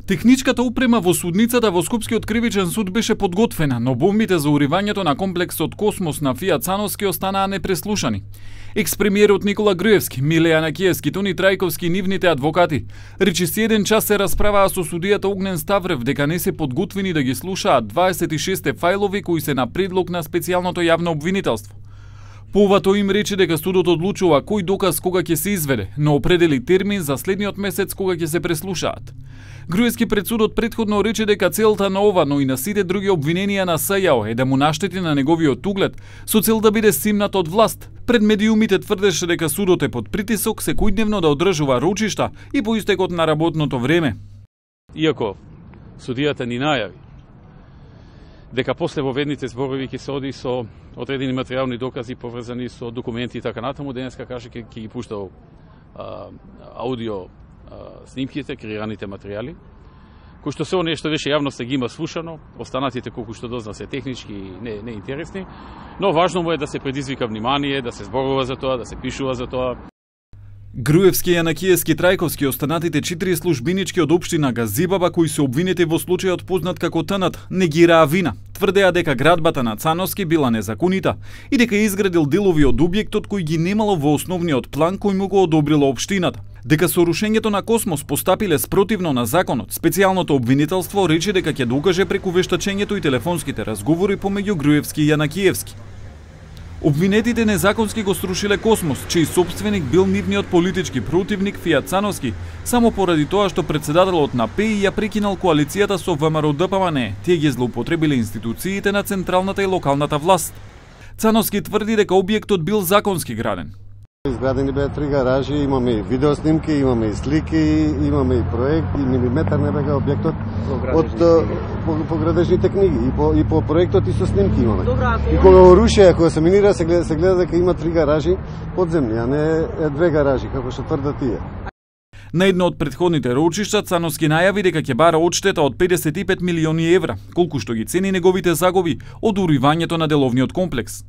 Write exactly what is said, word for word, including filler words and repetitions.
Техничката опрема во судницата во Скопскиот кривичен суд беше подготвена, но бомбите за уривањето на комплексот Космос на Фијат Цановски останаа непреслушани. Екс-премиерот Никола Груевски, Миле Јанакиевски, Тони Трајковски и нивните адвокати речиси еден час се расправаа со судијата Огнен Ставрев дека не се подготвени да ги слушаат дваесет и шесте фајлови кои се на предлог на специјалното јавно обвинителство. По ова тој им рече дека судот одлучува кој доказ кога ќе се изведе, но определи термин за следниот месец кога ќе се преслушаат. Груевски пред судот претходно рече дека целта на ова, но и на сите други обвиненија на СЈО е да му наштети на неговиот углед со цел да биде симнат од власт. Пред медиумите тврдеше дека судот е под притисок секојдневно да одржува рочишта и по истекот на работното време. Иако судијата ни најави дека после во ведните зборови ќе се оди со одредени материјални докази поврзани со документи и така натаму, денеска каже ќе ги пуштал а, аудио а, снимките, креираните материјали, кои што се нешто веше јавноста ги има слушано, останатите колку што дозна се технички и не, не интересни, но важно му е да се предизвика внимание, да се зборува за тоа, да се пишува за тоа. Груевски, Јанакиевски, Трајковски и останатите четири службинички од општина Газибаба кои се обвинети во случајот познат како Тнт негираа вина. Тврдеа дека градбата на Цановски била незаконита и дека изградил делови од објектот кој ги немало во основниот план кој му го одобрила општината. Дека со рушењето на Космос постапиле спротивно на законот, специјалното обвинителство рече дека ќе докаже преку вештачењето и телефонските разговори помеѓу Груевски и Јанакиевски. Обвинетите незаконски го срушиле Космос, чиј собственик бил нивниот политички противник Фијат Цановски, само поради тоа што председателот на ПИ ја прекинал коалицијата со ВМРО-ДПМН, тие ги злоупотребиле институциите на централната и локалната власт. Цановски тврди дека објектот бил законски граден. Изградени беа три гаражи, имаме и видеоснимки, имаме и слики, имаме и проект, и милиметар не бега објектот од по, по градежните книги и по, и по проектот и со снимки имаме. И кога го рушеа, кога се минира, се гледа, се гледа дека има три гаражи подземни, а не две гаражи, како што тврдат тие. На едно од претходните рочишта Цановски најави дека ќе бара одштета од педесет и пет милиони евра, колку што ги цени неговите загуби од уривањето на деловниот комплекс.